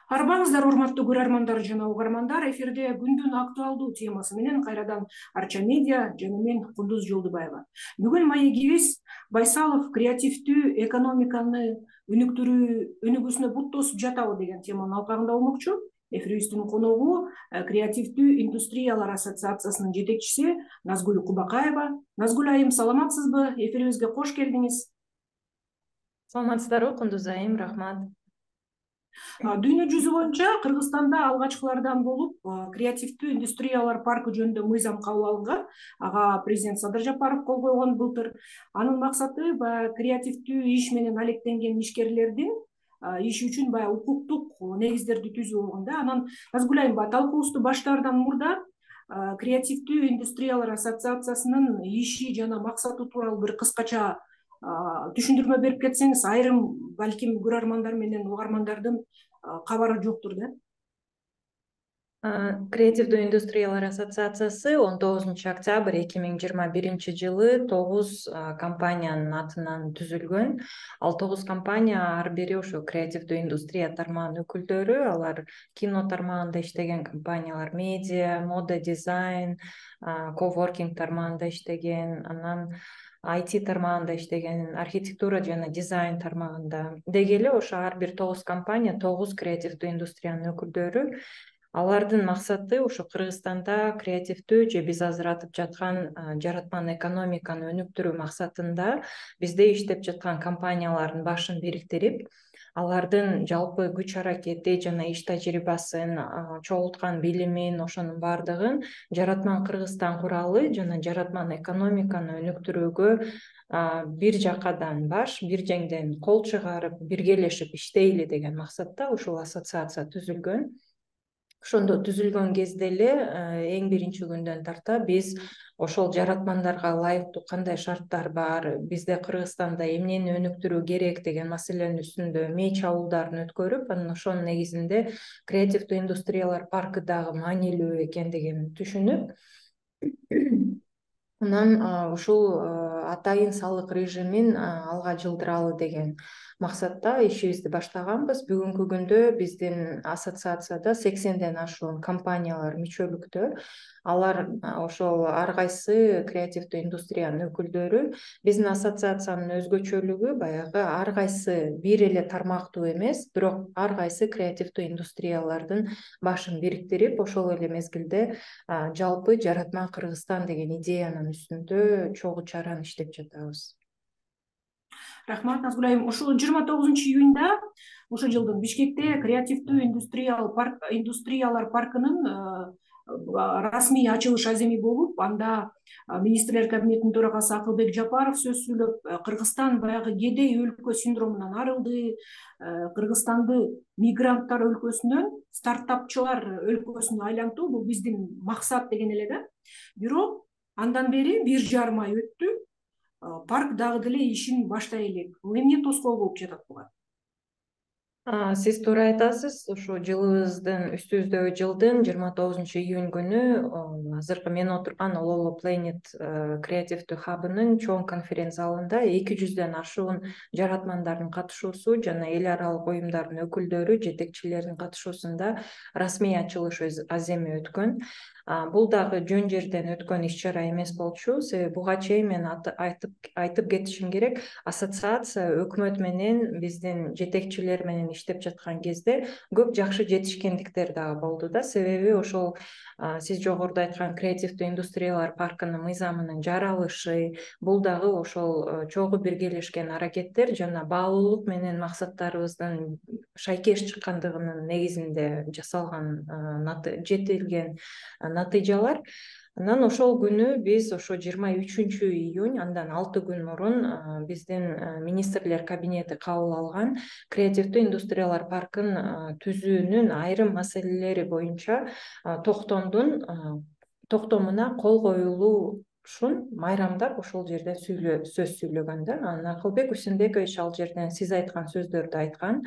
Арбаңыздар, урматтуу көрөрмандар жана угармандар, эфирде күндүн актуалдуу темасы менен кайрадан Арча медиа жана мен Кундуз Жолдубаева. Бүгүн маегибиз Байсалов креативдүү экономиканы өнүгүүсүнө бут тосуп жатабы деген теманын алкагында болмокчу. Эфирибиздин коногу креативдүү индустриялар ассоциациясынын жетекчиси Назгүл Кубакаева. Назгүл айым, саламатсызбы? Эфирибизге кош келдиңиз. Саламатсыздарбы, Кундуз айым, рахмат. Дүйнө жүзү боюнча Кыргызстанда алгачкылардан болуп креативдүү индустриялар паркы жөнүндө мыйзам кабыл алынган. Ага президент Садыр Жапаров кол койгон былтыр. Анын максаты баягы креативдүү иш менен алектенген ишкерлердин иши үчүн баягы укуктук негиздерди түзүү болгон да. Анан Назгүл айым, талкуубузду баштаардан мурда креативдүү индустриялар ассоциациясынын иши жана максаты тууралуу бир кыскача түшүндүрмө берип кетсеңиз, айрым балким көрөрмандар менен угармандардын кабары жоктур да. Креативдүү индустриялар ассоциациясы 19 октябрь 2021 жылы 9 компаниянын атынан түзүлгөн. Ал 9 компания ар бири ошо креативдүү индустрия тармагынын өкүлдөрү. Алар кино тармагында иштеген компаниялар, медиа, мода, дизайн, коворкинг тармагында иштеген, анан IT тармагында иштеген, архитектура жана дизайн тармагында. Деги эле ошо ар бир 9 компания 9 креативдүү индустриянын өкүлдөрү. Алардын максаты ошо Кыргызстанда креативдүү же биз азыр атып жаткан жаратман экономиканы өнүктүрүү максатында бизде иштеп жаткан компаниялардын башын бириктирип, алардын жалпы күч аракети жана иш тажрыйбасын, чогулткан билимин, ошонун баардыгын жаратман Кыргызстан куралы жана жаратман экономиканы өнүктүрүүгө бир жакадан бир жеңден кол чыгарып, биргелешип иштейли деген максатта ушул ассоциация түзүлгөн. Ошондо түзүлгөн кезде эле эң биринчи күндөн тарта биз ошол жаратмандарга ылайыктуу кандай шарттар бар, бизде Кыргызстанда эмнени өнүктүрүү керек деген маселенин үстүндө мээ чабуулдарын өткөрүп, анан ошонун негизинде креативдүү индустриялар паркы дагы маанилүү экендигин түшүнүп, анан ушул атайын салык режимин алга жылдыралы деген максатта ишибизди баштаганбыз. Бүгүнкү күндө биздин ассоциацияда 80ден ашуун компаниялар мүчөлүктө. Алар ошол ар кайсы креативдүү индустриянын өкүлдөрү. Биздин ассоциациянын өзгөчөлүгү баягы ар кайсы бир эле тармактуу эмес, бирок ар кайсы креативдүү индустриялардын башын бириктирип, ошол эле мезгилде жалпы жаратман Кыргызстан деген идеянын үстүндө чогуу чаран иштеп жатабыз. Рахмат, Назгүл айым. Ушул 29 июнда ошол жылдын Бишкекте креативдүү индустриялар паркынын расмий ачылыш аземи болуп, анда министрлер кабинетинин төрагасы Акылбек Жапаров сөз сүйлөп, Кыргызстан баягы кедей өлкө синдромунан арылды, Кыргызстанды мигранттар өлкөсүнөн стартапчылар өлкөсүнө айлантуу бул биздин максат деген эле да. Бирок андан бери 1,5 ай өттү. Парк дагы деле ишин баштай элек. Бул эмне тоскоол болуп жатат буга? Сиз туура айтасыз. Ушу жылыбыздын үстүбүздөгү жылдын 29 июнь күнү азыркы мен отурган Ололо Planet креативдүү хабынын чоң конференц залында 200ден ашуун жаратмандардын катышуусу жана эл аралык уюмдардын өкүлдөрү, жетекчилеринин катышуусунда расмий ачылыш аземи өткөн. Бул дагы жөн жерден өткөн иш-чара эмес болчу. Себеби буга чейин мен айтып кетишим керек. Ассоциация өкмөт менен биздин жетекчилер менен иштеп жаткан кезде көп жакшы жетишкендиктер дагы болду да. Себеби ошол сиз жогоруда айткан креативдүү индустриялар паркынын мыйзамынын жаралышы, бул дагы ошол чогуу биргелешкен аракеттер жана баалуулук менен максаттарыбыздын шайкеш чыккандыгынын негизинде жасалган жетилген натыйжалар. Анан ошол күнү биз ошо 23 июнь, андан 6 күн мурун биздин министрлер кабинети кабыл алган креативдүү индустриялар паркын түзүүнүн айрым маселелери боюнча токтомуна кол коюлушун майрамдап ошол жерде сөз сүйлөгөн да. Анан Акылбек Үсенбекович ал жерден сиз айткан сөздөрдү айткан.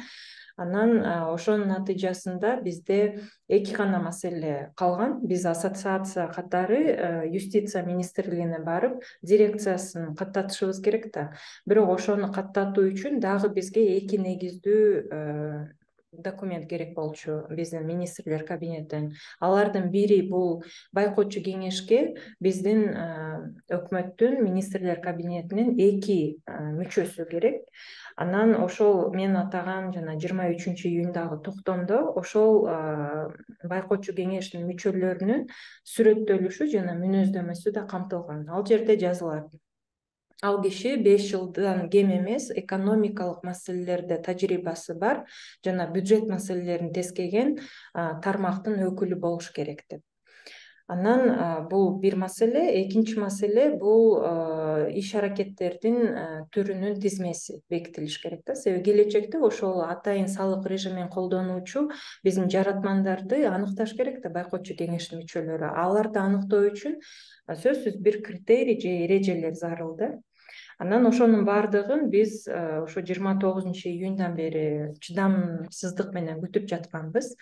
Анан ошонун натыйжасында бизде 2 гана маселе калган. Биз ассоциация катары юстиция министрлигине барып, дирекциясын каттатышыбыз керек да. Бирок ошону каттатуу үчүн дагы бизге 2 негиздүү документ керек болчу биздин министрлер кабинетинен. Алардын бири бул байкоочу кеңешке биздин өкмөттүн министрлер кабинетинин 2 мүчөсү керек. Анан ошол мен атаган жана 23-июндагы токтомдо ошол байкоочу кеңештин мүчөлөрүнүн сүрөттөлүшү жана мүнөздөмөсү да камтылган. Ал жерде жазылат: ал киши 5 жылдан кем эмес экономикалык маселелерде тажрыйбасы бар жана бюджет маселелерин тескеген тармактын өкүлү болуш керек деп. Анан бул бир маселе. Экинчи маселе бул иш аракеттердин түрүнүн тизмеси бекитилиш керек да. Себеби келечекте ошол атайын салык режимин колдонуучу биздин жаратмандарды аныкташ керек да байкоочу кеңештин мүчөлөрү. Аларды аныктоо үчүн сөзсүз бир критерий же эрежелер зарыл да. Анан ошонун баардыгын биз ошо 29-июндан бери чыдамсыздык менен күтүп жатканбыз.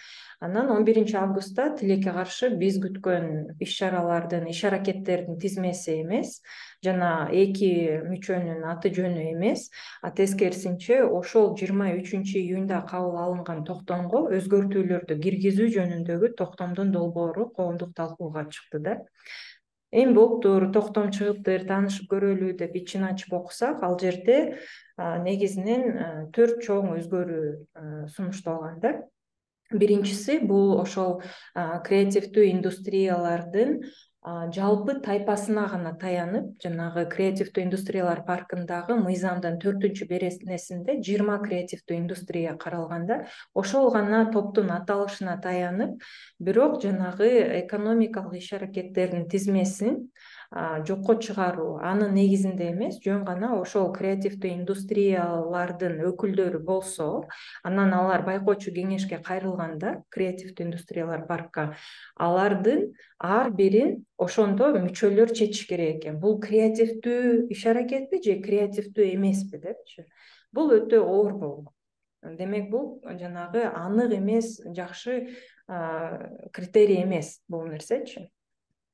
Анан 11-августта тилекке каршы биз күткөн иш-чаралардын, иш-аракеттердин тизмеси эмес жана 2 мүчөнүн аты жөнү эмес, тескерисинче ошол 23-июнда кабыл алынган токтомго өзгөртүүлөрдү киргизүү жөнүндөгү токтомдун долбоору коомдук талкууга чыкты да. Эми болуптур, токтом чыгыптыр, таанышып көрөлү деп ичин ачып окусак, ал жерде негизинен 4 чоң өзгөрүү сунушталган да. Биринчиси бул ошол креативдүү индустриялардын жалпы тайпасына гана таянып, жанагы креативдүү индустриялар паркындагы мыйзамдын 4-беренесинде 20 креативдүү индустрия каралган да. Ошол гана топтун аталышына таянып, бирок жанагы экономикалык иш-аракеттердин тизмесин жокко чыгаруу, анын негизинде эмес, жөн гана ошол креативдүү индустриялардын өкүлдөрү болсо, анан алар байкоочу кеңешке кайрылганда, креативдүү индустриялар паркка, алардын ар бирин ошондо мүчөлөр чечиш керек экен. Бул креативдүү иш-аракетпи же креативдүү эмеспи депчи. Бул өтө оор болгон. Демек бул жанагы анык эмес, жакшы критерий эмес бул нерсечи.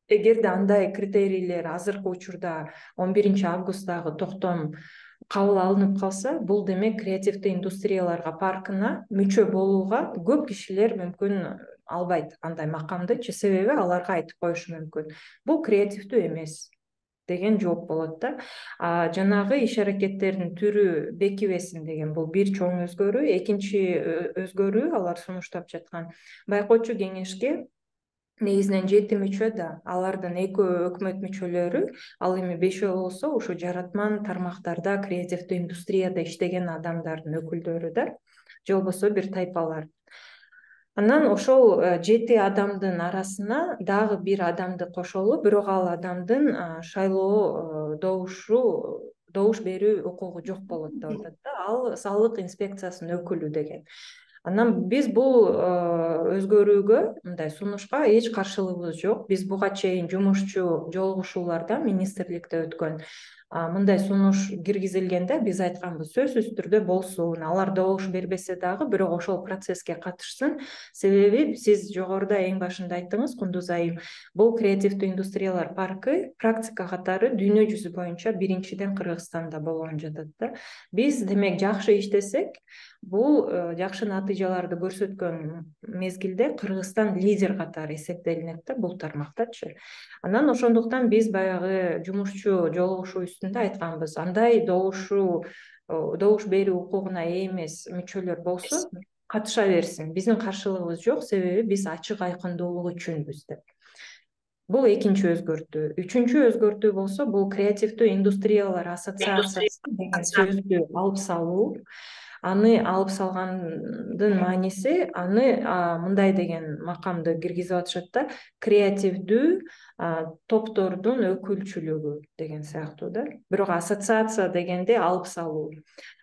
Эгерде андай критерийлер азыркы учурда 11-августтагы токтом кабыл алынып калса, бул демек креативдүү индустрияларга паркына мүчө болууга көп кишилер мүмкүн албайт андай макамдычы, себеби аларга айтып коюшу мүмкүн: бул креативдүү эмес деген жооп болот да. Жанагы иш-аракеттердин түрү бекибесин деген бул бир чоң өзгөрүү. Экинчи өзгөрүү алар сунуштап жаткан: байкоочу кеңешке негизинен 7 мүчө да, алардын 2 өкмөт мүчөлөрү, ал эми 5 болсо ушу жаратман тармактарда креативдүү индустрияда иштеген адамдардын өкүлдөрү да, же болбосо бир тайпалар. Анан ошол 7 адамдын арасына дагы бир адамды кошолуп, бирок ал адамдын шайлоо добуш берүү укугу жок болот деп атат да. Ал салык инспекциясынын өкүлү деген. Анан биз бул өзгөрүүгө, мындай сунушка эч каршылыгыбыз жок. Биз буга чейин жумушчу жолугушууларда министрликте өткөн мындай сунуш киргизилгенде биз айтканбыз: сөзсүз түрдө болсун, алар добуш бербесе дагы, бирок ошол процесске катышсын. Себеби сиз жогоруда эң башында айттыңыз, Кундуз айым, бул креативдүү индустриялар паркы практика катары дүйнө жүзү боюнча биринчиден Кыргызстанда болгон жатат да. Биз демек жакшы иштесек, бул жакшы натыйжаларды көрсөткөн мезгилде Кыргызстан лидер катары эсептелинет да бул тармактачы. Анан ошондуктан биз баягы жумушчу жолугушуу үстүндө айтканбыз: андай добуш берүү укугуна ээ эмес мүчөлөр болсо катыша берсин. Биздин каршылыгыбыз жок, себеби биз ачык айкындуулук үчүнбүз деп. Бул экинчи өзгөртүү. Үчүнчү өзгөртүү болсо, бул креативдүү индустриялар ассоциациясы деген сөздү алып салуу. Аны алып салгандын мааниси, аны мындай деген макамды киргизип атышат да: креативдүү топтордун өкүлчүлүгү деген сыяктуу да. Бирок ассоциация дегенде алып салуу.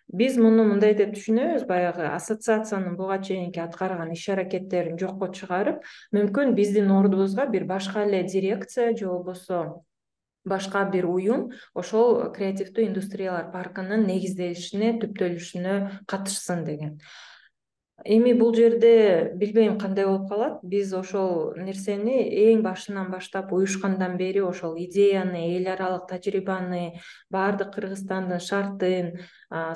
Биз муну мындай деп түшүнөбүз: баягы ассоциациянын буга чейинки аткарган иш-аракеттерин жокко чыгарып, мүмкүн биздин ордубузга бир башка эле дирекция же болбосо башка бир уюм ошол креативдүү индустриялар паркынын негизделишине, түптөлүшүнө катышсын деген. Эми бул жерде билбейм кандай болуп калат. Биз ошол нерсени эң башынан баштап уюшкандан бери ошол идеяны, эл аралык тажрыйбаны, баардык Кыргызстандын шартын,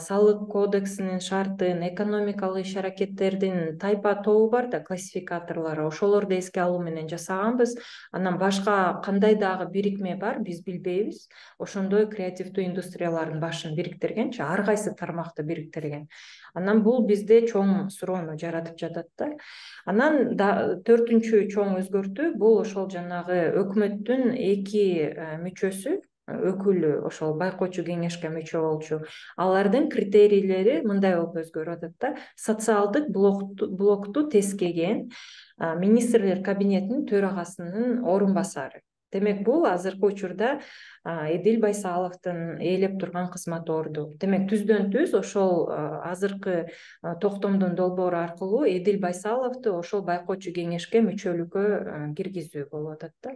салык кодексинин шартын, экономикалык иш-аракеттердин тайпа тобу бар да, классификаторлору, ошолорду эске алуу менен жасаганбыз. Анан башка кандай дагы бирикме бар, биз билбейбиз. Ошондой креативдүү индустриялардын башын бириктиргенчи, ар кайсы тармакты бириктирген. Анан бул бизде чоң суроону жаратып жатат да. Анан төртүнчү чоң өзгөртүү бул ошол жанагы өкмөттүн эки мүчөсү, өкүлү ошол байкоочу кеңешке мүчө болчу. Алардын критерийлери мындай болуп өзгөрүп атат да. Социалдык блокту тескеген министрлер кабинетинин төрагасынын орун басары. Демек бул азыркы учурда Эдил Байсаловдун ээлеп турган кызмат орду. Демек түздөн түз ошол азыркы токтомдун долбоору аркылуу Эдил Байсаловду ошол байкоочу кеңешке мүчөлүккө киргизүү болуп атат да.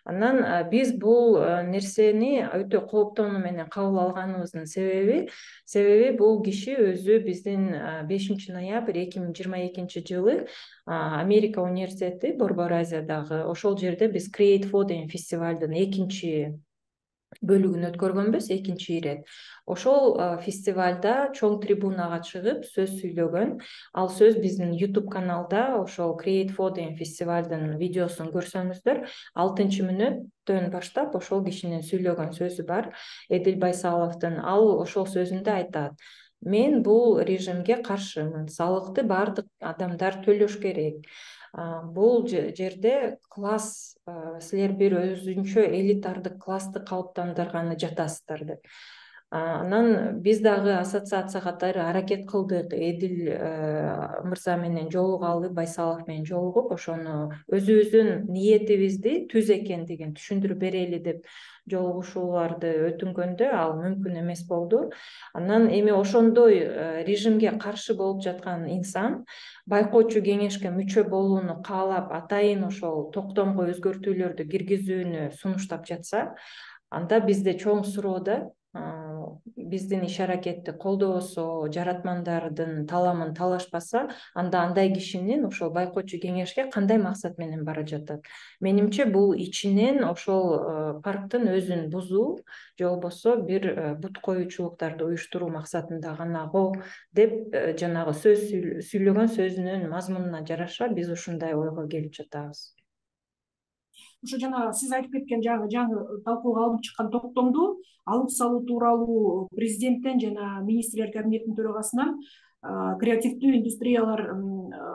Анан биз бул нерсени өтө кооптонуу менен кабыл алганыбыздын себеби бул киши өзү биздин 5 ноябрь 2022 жылы Америка университети, Борбор Азиядагы ошол жерде биз Create For деген фестивалдын экинчи бөлүгүн өткөргөнбүз, экинчи ирет. Ошол фестивалда чоң трибунага чыгып сөз сүйлөгөн. Ал сөз биздин YouTube каналда ошол Create For деген фестивалдын видеосун көрсөңүздөр, 6-мүнөттөн баштап ошол кишинин сүйлөгөн сөзү бар, Эдил Байсаловдун. Ал ошол сөзүндө айтат: мен бул режимге каршымын, салыкты баардык адамдар төлөш керек. Бул жерде класс, силер бир өзүнчө элитардык классты калыптандырганы жатасыздар деп. Анан биз дагы ассоциация катары аракет кылдык Эдил мырза менен жолугалы, Байсалов менен жолугуп, ошону өзүбүздүн ниетибизди түз экендигин түшүндүрүп берели деп жолугушууларды өтүнгөндө ал мүмкүн эмес болду. Анан эми ошондой режимге каршы болуп жаткан инсан байкоочу кеңешке мүчө болууну каалап, атайын ошол токтомго өзгөртүүлөрдү киргизүүнү сунуштап жатса, анда бизде чоң суроо да, биздин иш-аракетти колдобосо, жаратмандардын таламын талашпаса, анда андай кишинин ошол байкоочу кеңешке кандай максат менен бара жатат? Менимче бул ичинен ошол парктын өзүн бузуу, же болбосо бир бут коюучулуктарды уюштуруу максатында гана го деп жанагы сөз сүйлөгөн сөзүнүн мазмунуна жараша биз ушундай ойго келип жатабыз. Ошо жана сиз айтып кеткен жаңы талкууга алынып чыккан токтомду алып салуу тууралуу президенттен жана министрлер кабинетинин төрагасынан креативдүү индустриялар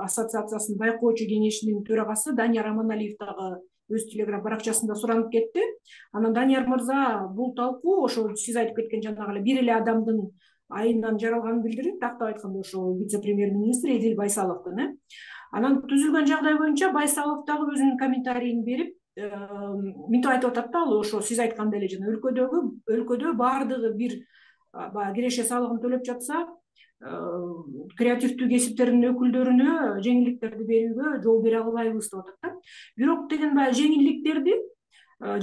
ассоциациясынын байкоочу кеңешинин төрагасы Данияр Аманалиев дагы өз телеграм баракчасында суранып кетти. Анан Данияр мырза бул талкуу ошо сиз айтып кеткен жанагы эле бир эле адамдын айынан жаралганын билдирип, тактап айтканда ошол вице-премьер-министр Эдил Байсаловдун. Анан түзүлгөн жагдай боюнча Байсалов дагы өзүнүн комментарийин берип, мынтип айтып атат да, ал ошо сиз айткандай эле жана өлкөдө баардыгы бир баягы киреше салыгын төлөп жатса, креативдүү кесиптердин өкүлдөрүнө жеңилдиктерди берүүгө жол бере албайбыз деп атат да. Бирок деген баягы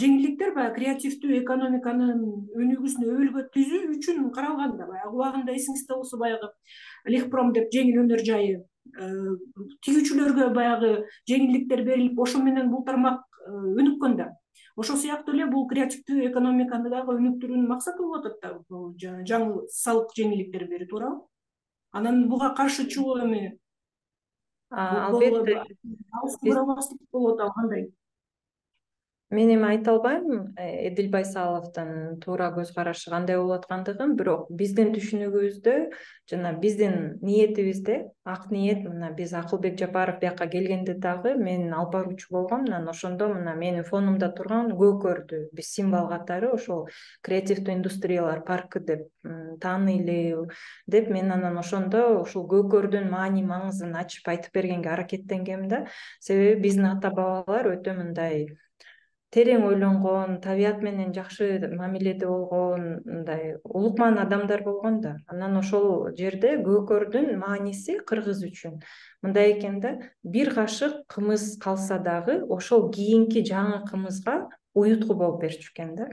жеңилдиктер баягы креативдүү экономиканын өнүгүүсүнө өбөлгө түзүү үчүн каралган да. Баягы убагында эсиңизде болсо баягы Лехпром деп жеңил өнөр жайы тигүүчүлөргө баягы жеңилдиктер берилип, ошо менен бул тармак өнүккөн да. Ошол сыяктуу эле бул креативдүү экономиканы дагы өнүктүрүүнүн максаты болуп атат да, бул жаңы салык жеңилдиктер берүү тууралуу. Анан буга каршы чыгуу эми албетте болот, кандай? Мен эми айта албайм Эдил Байсаловдун туура көз карашы кандай болуп аткандыгын, бирок биздин түшүнүгүбүздө жана биздин ниетибизде, ак ниет, мына биз Акылбек Жапаров бияка келгенде дагы мен алып баруучу болгом, анан ошондо мына менин фонумда турган көкөрдү биз символ катары ошол креативдүү индустриялар паркы деп таанайлы деп, мен анан ошондо ушул көкөрдүн маани маңызын ачып айтып бергенге аракеттенгем да. Себеби биздин ата бабалар өтө мындай терең ойлонгон, табият менен жакшы мамиледе болгон, мындай улукман адамдар болгон да. Анан ошол жерде көкөрдүн мааниси кыргыз үчүн мындай экен да: бир кашык кымыз калса дагы ошол кийинки жаңы кымызга уютку болуп берчү экен да.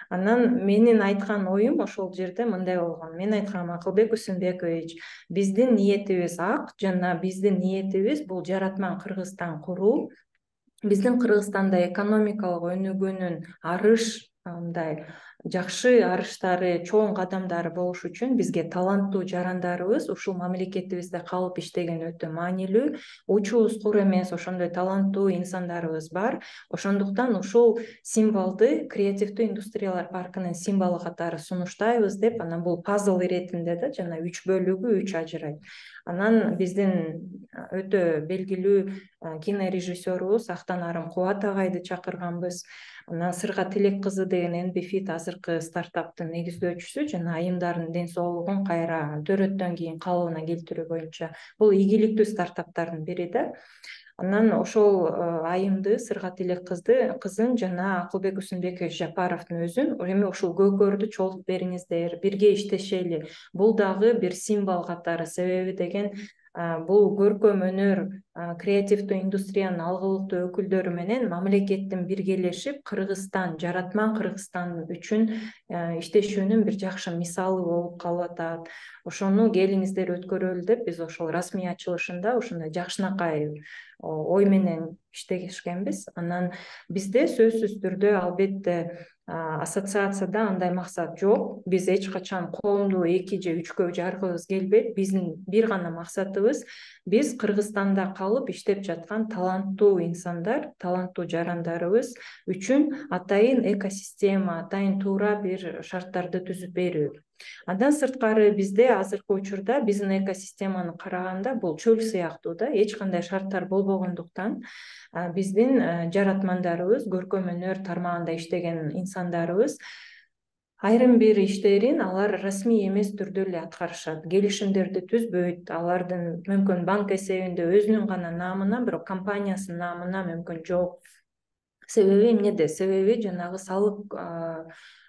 Анан менин айткан оюм ошол жерде мындай болгон. Мен айткам, Акылбек Усунбекович, биздин ниетибиз ак жана биздин ниетибиз бул жаратман Кыргызстан куруу. Биздин Кыргызстанда экономикалык өнүгүүнүн арыш мындай жакшы арыштары, чоң кадамдары болуш үчүн бизге таланттуу жарандарыбыз ушул мамлекетибизде калып иштеген өтө маанилүү. Учубуз кур эмес, ошондой таланттуу инсандарыбыз бар. Ошондуктан ушул символду креативдүү индустриялар паркынын символу катары сунуштайбыз деп, анан бул пазл иретинде да жана 3 бөлүгү 3 ажырайт. Анан биздин өтө белгилүү кинорежиссерубуз Актанарым Кубат агайды чакырганбыз. Анан Сырга Тилек кызы деген NBFit азыркы стартаптын негиздөөчүсү жана айымдардын ден соолугун кайра төрөттөн кийин калыбына келтирүү боюнча бул ийгиликтүү стартаптардын бири да. Анан ошол айымды, Сырга Тилек кызын жана Акылбек Усунбекович Жапаровдун өзүн эми ушул көкөрдү чогултуп бериңиздер, бирге иштешели. Бул дагы бир символ катары, себеби деген бул көркөм өнөр, креативдүү индустриянын алгылыктуу өкүлдөрү менен мамлекеттин биргелешип Кыргызстан, жаратман Кыргызстан үчүн иштешүүнүн бир жакшы мисалы болуп калып атат. Ошону келиңиздер өткөрөлү деп биз ошол расмий ачылышында ушундай жакшынакай ой менен иштешкенбиз. Анан бизде сөзсүз түрдө албетте ассоциацияда андай максат жок. Биз эч качан коомду 2 же 3кө жаргыбыз келбейт. Биздин бир гана максатыбыз биз Кыргызстанда калып иштеп жаткан таланттуу инсандар, таланттуу жарандарыбыз үчүн атайын экосистема, атайын туура бир шарттарды түзүп берүү. Андан сырткары бизде азыркы учурда биздин экосистеманы караганда бул чөл сыяктуу да, эч кандай шарттар болбогондуктан биздин жаратмандарыбыз, көркөм өнөр тармагында иштеген инсандарыбыз айрым бир иштерин алар расмий эмес түрдө эле аткарышат. Келишимдерди түзбөйт, алардын мүмкүн банк эсебинде өзүнүн гана наамына, бирок компаниясынын наамына мүмкүн жок. Себеби эмнеде? Себеби жанагы салык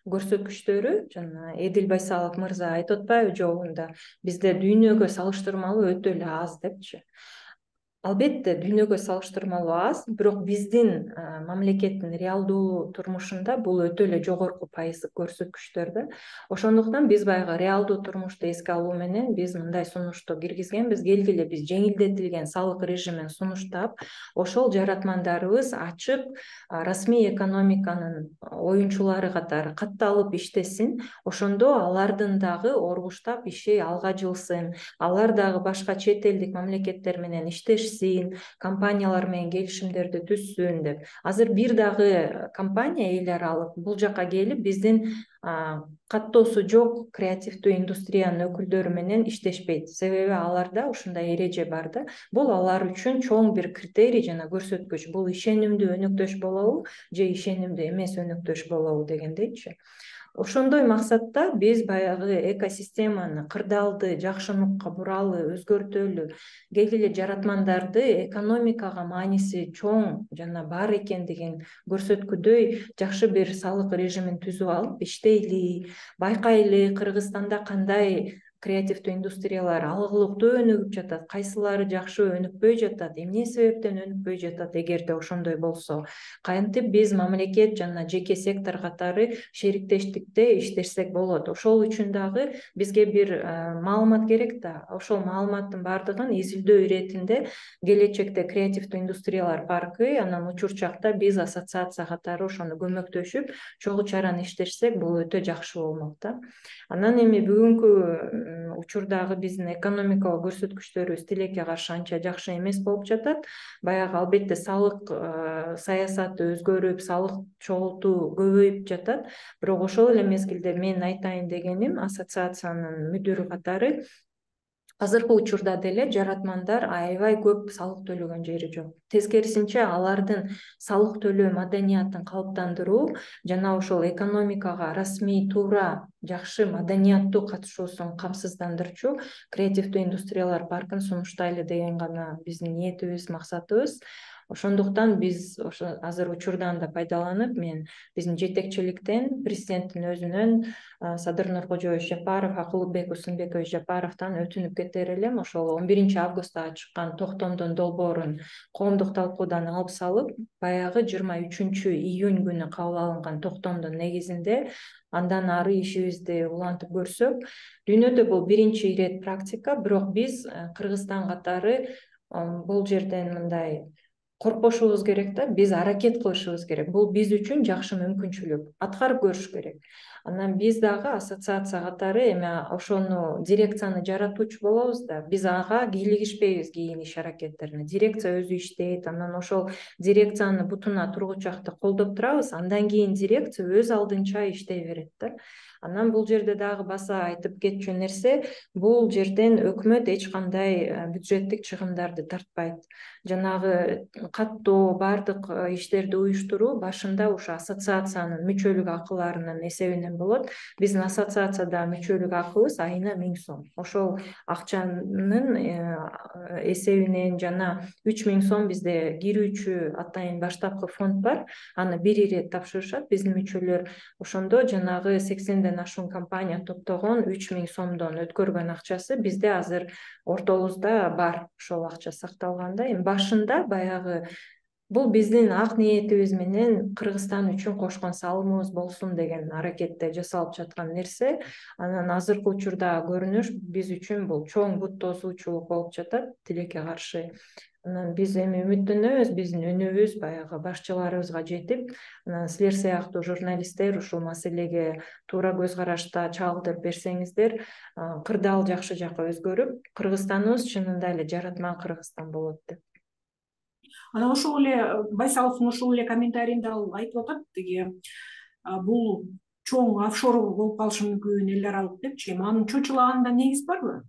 көрсөткүчтөрү, жана Эдил Байсалов мырза айтып атпайбы жолунда, бизде дүйнөгө салыштырмалуу өтө эле аз депчи. Албетте дүйнөгө салыштырмалуу аз, бирок биздин мамлекеттин реалдуу турмушунда бул өтө эле жогорку пайыздык көрсөткүчтөр да. Ошондуктан биз баягы реалдуу турмушту эске алуу менен биз мындай сунушту киргизгенбиз. Келгиле биз жеңилдетилген салык режимин сунуштап, ошол жаратмандарыбыз ачык расмий экономиканын оюнчулары катары катталып иштесин. Ошондо алардын дагы оргуштап иши алга жылсын, алар дагы башка чет элдик мамлекеттер менен иштешсин, компаниялар менен келишимдерди түзсүн деп. Азыр бир дагы компания эл аралык бул жака келип биздин каттоосу жок креативдүү индустриянын өкүлдөрү менен иштешпейт. Себеби аларда ушундай эреже бар да. Бул алар үчүн чоң бир критерий жана көрсөткүч. Бул ишенимдүү өнөктөш болобу же ишенимдүү эмес өнөктөш болобу дегендейчи. Ошондой максатта биз баягы экосистеманы кырдаалды жакшы нукка буралы, өзгөртөлү, келгиле жаратмандарды экономикага мааниси чоң жана бар экендигин көрсөткүдөй жакшы бир салык режимин түзүп алып иштейли, байкайлы Кыргызстанда кандай креативдүү индустриялар алгылыктуу өнүгүп жатат, кайсылары жакшы өнүкпөй жатат, эмне себептен өнүкпөй жатат. Эгерде ошондой болсо, кантип биз мамлекет жана жеке сектор катары шериктештикте иштешсек болот. Ошол үчүн дагы бизге бир маалымат керек да. Ошол маалыматтын баардыгын изилдөө иретинде келечекте креативдүү индустриялар паркы, анан учурчакта биз ассоциация катары ошону көмөктөшүп, чогуу чаран иштешсек, бул өтө жакшы болмок да. Анан эми бүгүнкү учурдагы биздин экономикалык көрсөткүчтөрүбүз тилекке каршы анча жакшы эмес болуп жатат. Баягы албетте салык саясаты өзгөрүп, салык чогултуу көбөйүп жатат. Бирок ошол эле мезгилде мен айтайын дегеним, ассоциациянын мүдүрү катары азыркы учурда деле жаратмандар аябай көп салык төлөгөн жери жок. Тескерисинче алардын салык төлөө маданиятын калыптандыруу жана ошол экономикага расмий туура жакшы маданияттуу катышуусун камсыздандырчу креативдүү индустриялар паркын сунуштайлы деген гана биздин ниетибиз, максатыбыз. Ошондуктан биз ошо азыр учурдан да пайдаланып, мен биздин жетекчиликтен, президенттин өзүнөн, Садыр Нуркожоевич Жапаров, Акылбек Усунбекович Жапаровдон өтүнүп кетер элем. Ошол 11 августта чыккан токтомдун долбоорун коомдук талкуудан алып салып, баягы 23 июнь күнү кабыл алынган токтомдун негизинде андан ары ишибизди улантып көрсөк, дүйнөдө бул биринчи ирет практика. Бирок биз Кыргызстан катары бул жерден мындай коркпошубуз керек да, биз аракет кылышыбыз керек. Бул биз үчүн жакшы мүмкүнчүлүк, аткарып көрүш керек. Анан биз дагы ассоциация катары эми ошону дирекцияны жаратуучу болобуз да, биз ага кийлигишпейбиз кийин иш аракеттерине. Дирекция өзү иштейт, анан ошол дирекцияны бутуна тургучакты колдоп турабыз, андан кийин дирекция өз алдынча иштей берет да. Анан бул жерде дагы баса айтып кетчү нерсе, бул жерден өкмөт эч кандай бюджеттик чыгымдарды тартпайт. Жанагы каттоо, баардык иштерди уюштуруу башында ушу ассоциациянын мүчөлүк акыларынын эсебинен болот. Биздин ассоциацияда мүчөлүк акыбыз айына 1000 сом. Ошол акчанын эсебинен жана 3000 сом бизде кирүүчү атайын баштапкы фонд бар. Аны бир ирет тапшырышат биздин мүчөлөр. Ошондо жанагы 80ден ашуун компания топтогон 3000 сомдон өткөргөн акчасы бизде азыр ортобузда бар. Ошол акча сакталганда, эми башында баягы бул биздин ак ниетибиз менен Кыргызстан үчүн кошкон салымыбыз болсун деген аракетте жасалып жаткан нерсе. Анан азыркы учурда көрүнүш биз үчүн бул чоң бут тосуучулук болуп жатат, тилекке каршы. Анан биз эми үмүттөнөбүз, биздин үнүбүз баягы башчыларыбызга жетип, анан силер сыяктуу журналисттер ушул маселеге туура көз карашта чагылдырып берсеңиздер, кырдаал жакшы жакка өзгөрүп, Кыргызстаныбыз чынында эле жаратман Кыргызстан болот деп. Анан ошол эле Байсаловдун ошол эле комментарийинде ал айтып атат, тиги бул чоң офшор болуп калышы мүмкүн, эл аралык депчи. Анын чочулаганында негиз барбы?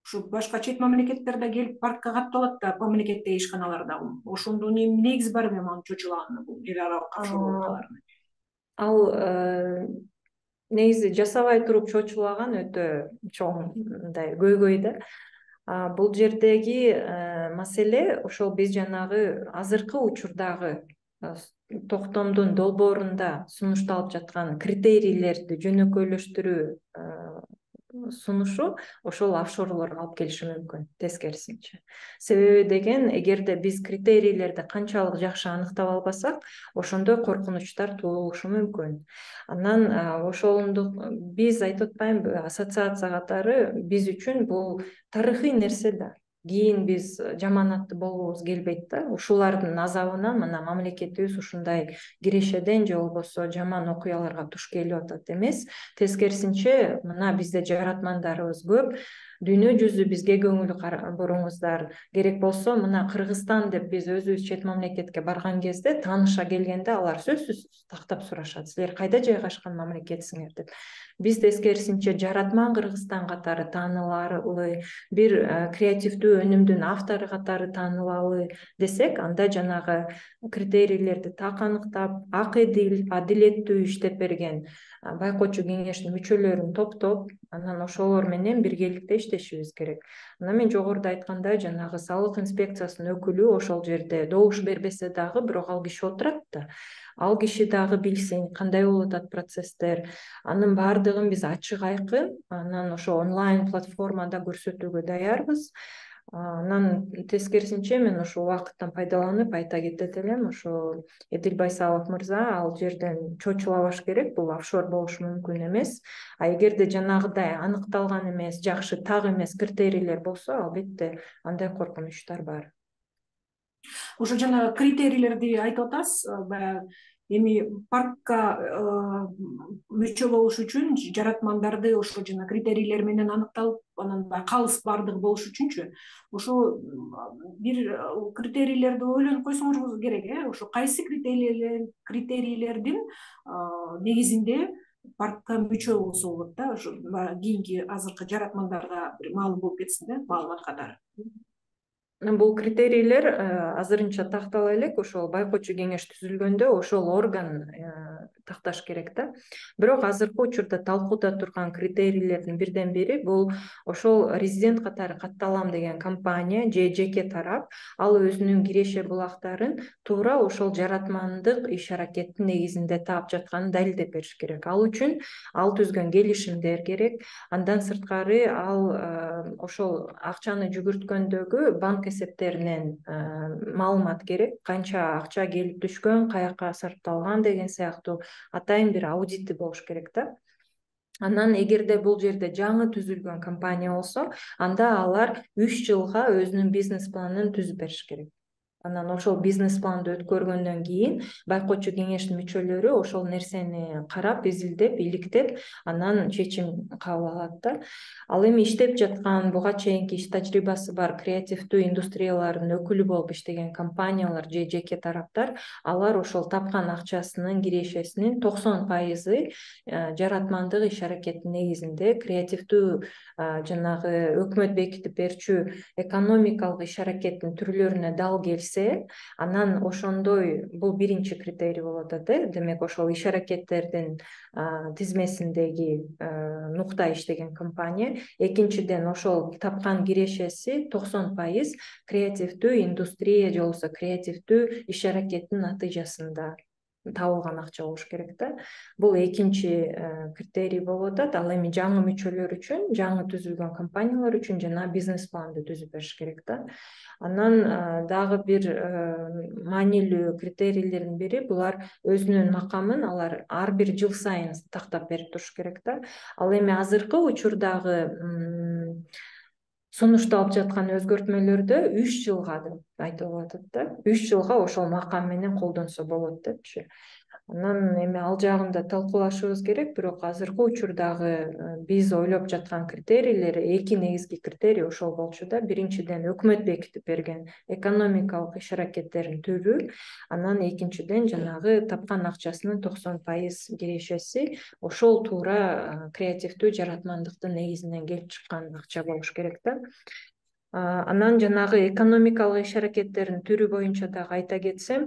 Ушу башка чет мамлекеттерде келип паркка катталат да, мамлекеттеги ишканаларда. Ошондо негиз барбы анын чочулаганына, бул эл аралык офшор болуп каларына? Ал негизи жасабай туруп чочулаган өтө чоң мындай көйгөй да. Бул жердеги маселе ошол биз жанагы азыркы учурдагы токтомдун долбоорунда сунушталып жаткан критерийлерди жөнөкөйлөштүрүү сунушу ошол офшорлорго алып келиши мүмкүн, тескерисинче. Себеби деген, эгерде биз критерийлерди канчалык жакшы аныктап албасак, ошондой коркунучтар туулушу мүмкүн. Анан ошондук биз айтып атпаймынбы, ассоциация катары биз үчүн бул тарыхый нерсе да. Кийин биз жаманатты болгубуз келбейт да. Ушулардын азабынан мына мамлекетибиз ушундай кирешеден же болбосо жаман окуяларга туш келип атат эмес. Тескерисинче, мына бизде жаратмандарыбыз көп. Дүйнө жүзү бизге көңүл буруңуздар. Керек болсо мына Кыргызстан деп биз өзүбүз чет мамлекетке барган кезде, тааныша келгенде алар сөзсүз тактап сурашат. Силер кайда жайгашкан мамлекетсиңер деп. Биз тескерисинче жаратман Кыргызстан катары таанылалы, бир креативдүү өнүмдүн автору катары таанылалы десек, анда жанагы критерийлерди так аныктап, адилеттүү иштеп берген байкоочу кеңештин мүчөлөрүн топтоп, анан ошолор менен биргеликте иштешибиз керек. Анан мен жогоруда айткандай, жанагы салык инспекциясынын өкүлү ошол жерде добуш бербесе дагы, бирок ал киши отурат да. Ал киши дагы билсин кандай болуп атат процесстер. Анын баардыгын биз ачык айкын, анан ошо онлайн платформада көрсөтүүгө даярбыз. Анан тескерисинче мен ошол убакыттан пайдаланып айта кетет элем, ошо Эдил Байсалов мырза ал жерден чочулабаш керек, бул офшор болушу мүмкүн эмес. Эгерде жанагыдай аныкталган эмес, жакшы так эмес критерийлер болсо, албетте андай коркунучтар бар. Ошо жана критерийлерди айтып атасыз, баягы эми паркка мүчө болуш үчүн жаратмандарды ошо жана критерийлер менен аныкталып, анан калыс баардыгы болуш үчүнчү, ошо бир критерийлерди ойлонуп койсоңуз керек, ошо кайсы критерийлердин негизинде паркка мүчө болсо болот да, ошо кийинки азыркы жаратмандарга бир маалым болуп кетсин да, маалымат катары. Бул критерийлер азырынча тактала элек, ошол байкоочу кеңеш түзүлгөндө ошол орган такташ керек да. Бирок азыркы учурда талкууда турган критерийлердин бирден бири бул ошол резидент катары катталам деген компания же жеке тарап ал өзүнүн киреше булактарын туура ошол жаратмандык иш аракеттин негизинде таап жатканын далилдеп бериш керек. Ал үчүн ал түзгөн келишимдер керек. Андан сырткары ал ошол акчаны жүгүрткөндөгү банк эсептеринен маалымат керек. Канча акча келип түшкөн, каяка сарпталган деген сыяктуу атайын бир аудити болуш керек да. Анан эгерде бул жерде жаңы түзүлгөн компания болсо, анда алар 3 жылга өзүнүн бизнес планын түзүп бериш керек. Анан ошол бизнес планды өткөргөндөн кийин байкоочу кеңештин мүчөлөрү ошол нерсени карап, изилдеп, иликтеп, анан чечим кабыл алат да. Ал эми иштеп жаткан, буга чейинки иш тажрыйбасы бар креативдүү индустриялардын өкүлү болуп иштеген компаниялар же жеке тараптар, алар ошол тапкан акчасынын кирешесинин 90% жаратмандык иш аракеттин негизинде креативдүү жанагы өкмөт бекитип берчү экономикалык иш аракеттин түрлөрүнө дал келсе, анан ошондой бул биринчи критерий болуп атат. Демек ошол иш аракеттердин тизмесиндеги нукта иштеген компания. Экинчиден, ошол тапкан кирешеси 90% креативдүү индустрия же болбосо креативдүү иш аракеттин натыйжасында табылган акча болуш керек да. Бул экинчи критерий болуп атат. Ал эми жаңы мүчөлөр үчүн, жаңы түзүлгөн компаниялар үчүн жана бизнес планды түзүп бериш керек да. Анан дагы бир маанилүү критерийлердин бири булар өзүнүн макамын алар ар бир жыл сайын тактап берип туруш керек да. Ал эми азыркы учурдагы сунушталып жаткан өзгөртмөлөрдө 3 жылга деп айтылып атат да. 3 жылга ошол макам менен колдонсо болот депчи. Анан эми ал жагында талкуулашыбыз керек, бирок азыркы учурдагы биз ойлоп жаткан критерийлер, эки негизги критерий ошол болчу да. Биринчиден, өкмөт бекитип берген экономикалык иш аракеттердин түрү, анан экинчиден жанагы тапкан акчасынын 90% кирешеси ошол туура креативдүү жаратмандыктын негизинен келип чыккан акча болуш керек да. Анан жанагы экономикалык иш аракеттердин түрү боюнча дагы айта кетсем,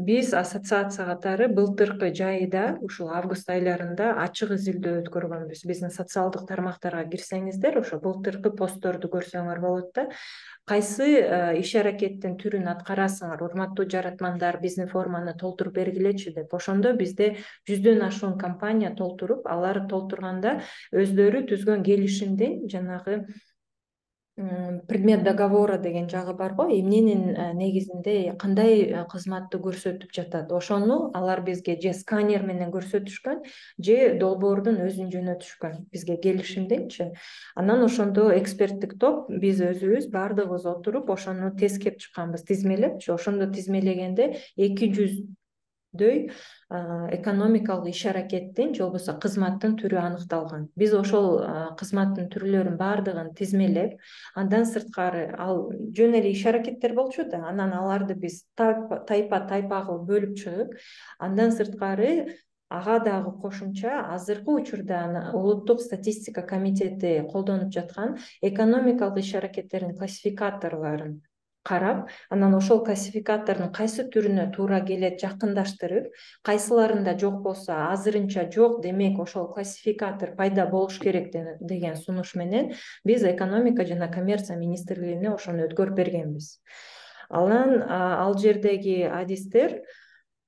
биз ассоциация катары былтыркы жайда ушул август айларында ачык изилдөө өткөргөнбүз. Биздин социалдык тармактарга кирсеңиздер, ошо былтыркы постторду көрсөңөр болот да. Кайсы иш аракеттин түрүн аткарасыңар, урматтуу жаратмандар, биздин форманы толтуруп бергилечи деп. Ошондо бизде 100дөн ашуун компания толтуруп, алар толтурганда өздөрү түзгөн келишимдин жанагы предмет договора деген жагы бар го. Эмненин негизинде кандай кызматты көрсөтүп жатат, ошону алар бизге же сканер менен көрсөтүшкөн, же долбоордун өзүн жөнөтүшкөн бизге келишимденчи. Анан ошондо эксперттик топ биз өзүбүз баардыгыбыз отуруп ошону тескеп чыкканбыз, тизмелепчи. Ошондо тизмелегенде 200дөй экономикалык иш аракеттин же болбосо кызматтын түрү аныкталган. Биз ошол кызматтын түрлөрүн баардыгын тизмелеп, андан сырткары ал жөн эле иш аракеттер болчу да, анан аларды биз тайпа кылып бөлүп чыгып, андан сырткары ага дагы кошумча азыркы учурда улуттук статистика комитети колдонуп жаткан экономикалык иш аракеттердин классификаторлорун карап, анан ошол классификатордун кайсы түрүнө туура келет жакындаштырып, кайсыларында жок болсо азырынча жок, демек ошол классификатор пайда болуш керек деген сунуш менен биз экономика жана коммерция министрлигине ошону өткөрүп бергенбиз. Анан ал жердеги адистер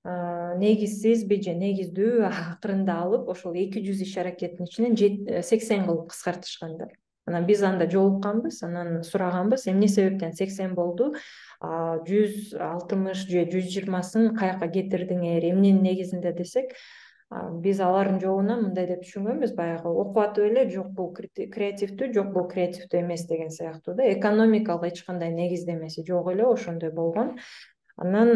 негизсизби же негиздүү акырында алып, ошол 200 иш аракеттин ичинен 80 кылып кыскартышкан да. Анан биз анда жолукканбыз, анан сураганбыз, эмне себептен 80 болду, 160 же 120сын каяка кетирдиңер, эмненин негизинде десек, биз алардын жообуна мындай деп түшүнгөнбүз, баягы окуп атып эле жок бул креативдүү, жок бул креативдүү эмес деген сыяктуу да, экономикалык эч кандай негиздемеси жок эле, ошондой болгон. Анан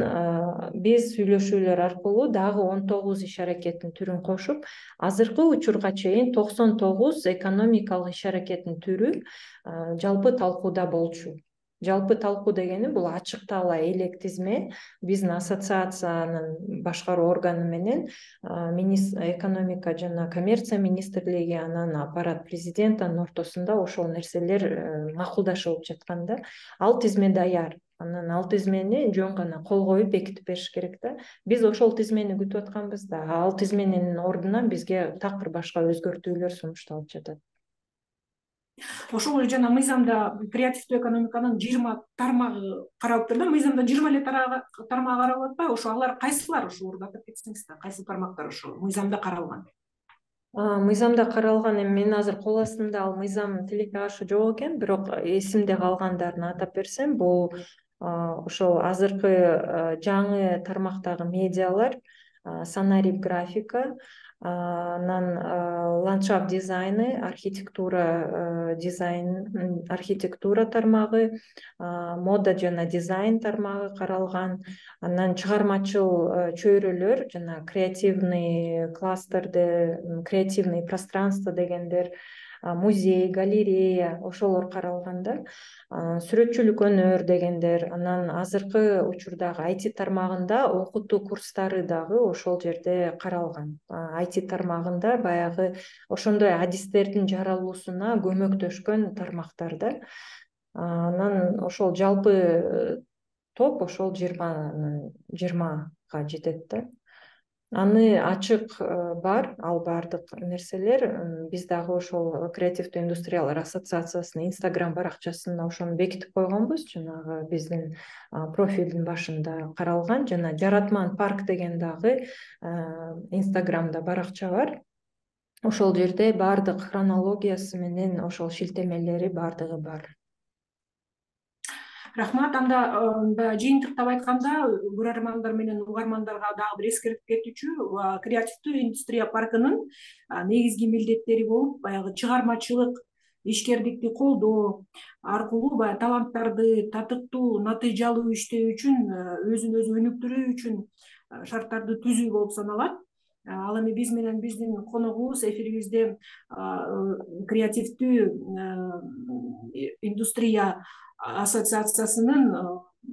биз сүйлөшүүлөр аркылуу дагы 19 иш аракеттин түрүн кошуп, азыркы учурга чейин 99 экономикалык иш аракеттин түрү жалпы талкууда болчу. Жалпы талкуу дегени бул ачыктала элек тизме, биздин ассоциациянын башкаруу органы менен экономика жана коммерция министрлиги, анан аппарат президенттин ортосунда ошол нерселер макулдашылып жаткан да. Ал тизме даяр. Анан ал тизмени жөн гана кол коюп бекитип бериш керек да. Биз ошол тизмени күтүп атканбыз да. Ал тизменин ордуна бизге такыр башка өзгөртүүлөр сунушталып жатат. Ошол эле жана мыйзамда креативдүү экономиканын 20 тармагы каралыптыр да. Мыйзамда 20 эле тармак каралып атпайбы? Ошо алар кайсылар ошолорду атап кетсеңиз да, кайсы тармактар ошо мыйзамда каралган? Мыйзамда каралган, эми мен азыр кол астымда ал мыйзам тилекке каршы жок экен, бирок эсимде калгандарын атап берсем, бул ошол азыркы жаңы тармактагы медиалар, сценарий, графика, анан ландшафт дизайны, архитектура тармагы, мода жана дизайн тармагы каралган, анан чыгармачыл чөйрөлөр жана креативный кластерде, креативный пространство дегендер, музей, галерея ошолор каралган да. Сүрөтчүлүк өнөр дегендер, анан азыркы учурдагы IT тармагында окутуу курстары дагы ошол жерде каралган. IT тармагында баягы ошондой адистердин жаралуусуна көмөктөшкөн тармактар да. Анан ошол жалпы топ ошол 20га жетет да. Аны ачык бар, ал баардык нерселер. Биз дагы ошол креативдүү индустриялар ассоциациясынын Instagram баракчасына ошону бекитип койгонбуз. Жанагы биздин профилдин башында каралган, жана Жаратман парк деген дагы Instagramда баракча бар. Ошол жерде баардык хронологиясы менен ошол шилтемелери баардыгы бар. Рахмат. Анда жыйынтыктап айтканда, көрөрмандар менен угармандарга дагы бир эскертип кетүүчү, креативдүү индустрия паркынын негизги милдеттери болуп, баягы чыгармачылык, ишкердикти колдоо аркылуу баягы таланттарды татыктуу, натыйжалуу иштөө үчүн, өзүн өзү өнүктүрүү үчүн шарттарды түзүү болуп саналат. Ал эми биз менен биздин коногубуз эфирибизде креативдүү индустрия ассоциациясынын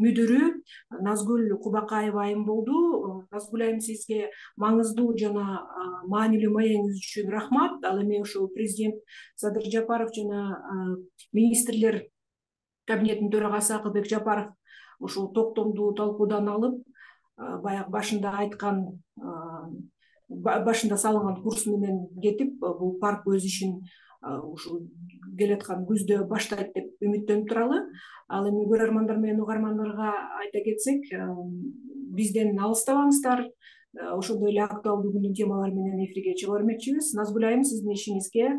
мүдүрү Назгүл Кубакаева айым болду. Назгүл айым, сизге маңыздуу жана маанилүү маегиңиз үчүн рахмат. Ал эми ошол президент Садыр Жапаров жана министрлер кабинетинин төрагасы Акылбек Жапаров ушул токтомду талкуудан алып, баягы башында салынган курс менен кетип, бул парк өз ишин ушул келаткан күздө баштайт деп үмүттөнүп туралы. Ал эми көрөрмандар менен угармандарга айта кетсек, бизден алыстабаңыздар. Ошондой эле актуалдуу күндүн темалары менен эфирге чыга бермекчибиз. Назгүл айым, сиздин ишиңизге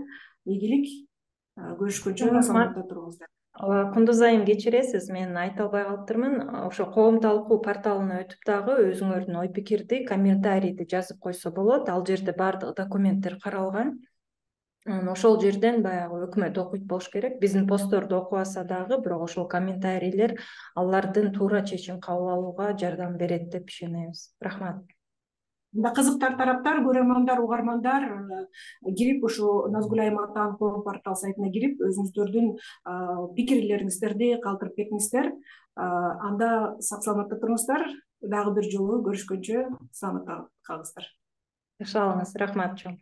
ийгилик. Көрүшкөнчө саламатта туруңуздар. Кундуз айым, кечиресиз, мен айта албай калыптырмын. Ошо коом талкуу порталына өтүп дагы өзүңөрдүн ой пикирди, комментарийди жазып койсо болот. Ал жерде баардык документтер каралган. Ошол жерден баягы өкмөт окуйт болуш керек. Биздин постторду окубаса дагы, бирок ошол комментарийлер алардын туура чечим кабыл алууга жардам берет деп ишенебиз. Рахмат. Кызыктар тараптар, көрөрмандар, угармандар кирип, ушу Назгүл айым атаан коом портал сайтына кирип, өзүңүздөрдүн пикирлериңиздерди калтырып кетиңиздер. Анда сак саламатта туруңуздар. Дагы бир жолу көрүшкөнчө саламатта калыңыздар. Жакшы алыңыз. Рахмат чоң.